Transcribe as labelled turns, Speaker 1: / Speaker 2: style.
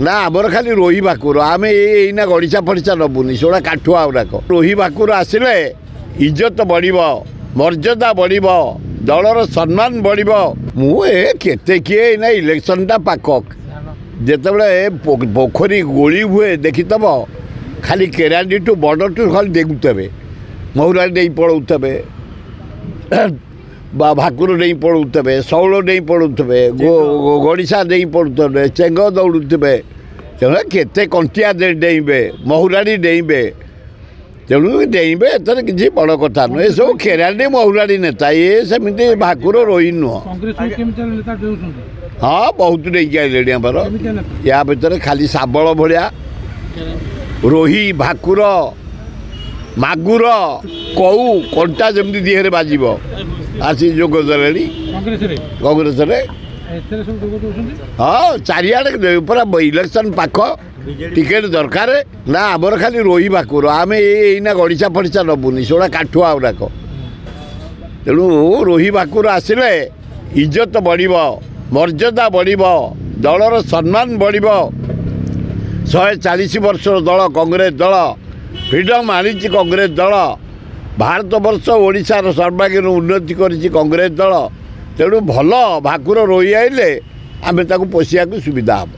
Speaker 1: ନା, ଆମର ଖାଲି ରୋହି ଭାକୁର। ଆମେ ଏଇନା ଗଡ଼ିଶା ଫଡ଼ିଶା ନେବୁନି, ସେଗୁଡ଼ା କାଠୁଆ ଗୁଡ଼ାକ। ରୋହି ଭାକୁର ଆସିଲେ ଇଜ୍ଜତ ବଢ଼ିବ, ମର୍ଯ୍ୟାଦା ବଢ଼ିବ, ଦଳର ସମ୍ମାନ ବଢ଼ିବ। ମୁଁ ଏ କେତେ କିଏ, ଏଇନା ଇଲେକ୍ସନଟା ପାଖ। ଯେତେବେଳେ ପୋଖରୀ ଗୋଳି ହୁଏ ଦେଖିଥବ, ଖାଲି କେରାଣ୍ଡିଠୁ ବର୍ଡ଼ରଠୁ ଖାଲି ଡେଉଁଥିବେ, ମହୁରା ଡେଇଁ ପଳଉଥିବେ ବା ଭାକୁର ଡେଇଁ ପଳଉଥିବେ, ଶଉଳ ଡେଇଁ ପଳଉଥିବେ, ଗଡ଼ିଶା ଡେଇଁ ପଳୁଥିବେ, ଚେଙ୍ଗ ଦୌଡ଼ୁଥିବେ। ତେଣୁ କେତେ କଣ୍ଟିଆ ଡେଇଁବେ, ମହୁରାଡ଼ି ଡେଇଁବେ। ତେଣୁ ଡେଇଁବେ, ଏଥିରେ କିଛି ବଡ଼ କଥା ନୁହେଁ। ଏସବୁ ଖେରାଣ୍ଡି ମହୁରାଡ଼ି ନେତା, ଇଏ ସେମିତି ଭାକୁର ରୋହି ନୁହଁ। ହଁ, ବହୁତ ଡେଇଁକି ଆଇଲେଣି ଆମର। ୟା ଭିତରେ ଖାଲି ଶାବଳ ଭଳିଆ ରୋହି, ଭାକୁର, ମାଗୁର, କଉ କଣ୍ଟା ଯେମିତି ଦିହରେ ବାଜିବ, ଆସି ଯୋଗ ଦେଲେଣି କଂଗ୍ରେସରେ। ହଁ, ଚାରିଆଡ଼େ ପୁରା ଇଲେକ୍ସନ୍ ପାଖ, ଟିକେଟ୍ ଦରକାର। ନା, ଆମର ଖାଲି ରୋହି ଭାକୁର। ଆମେ ଏଇନା ଗଡ଼ିଶା ଫଡ଼ିଶା ନେବୁନି, ସେଗୁଡ଼ା କାଠୁଆ ଗୁଡ଼ାକ। ତେଣୁ ରୋହି ଭାକୁର ଆସିଲେ ଇଜ୍ଜତ ବଢ଼ିବ, ମର୍ଯ୍ୟାଦା ବଢ଼ିବ, ଦଳର ସମ୍ମାନ ବଢ଼ିବ। 140 ବର୍ଷର ଦଳ କଂଗ୍ରେସ ଦଳ, ଫ୍ରିଡ଼ମ୍ ଆଣିଛି କଂଗ୍ରେସ ଦଳ, ଭାରତବର୍ଷ ଓଡ଼ିଶାର ସର୍ବାଙ୍ଗୀନ ଉନ୍ନତି କରିଛି କଂଗ୍ରେସ ଦଳ। ତେଣୁ ଭଲ ଭାକୁର ରୋହି ଆଇଲେ ଆମେ ତାକୁ ପୋଷିବାକୁ ସୁବିଧା ହେବ।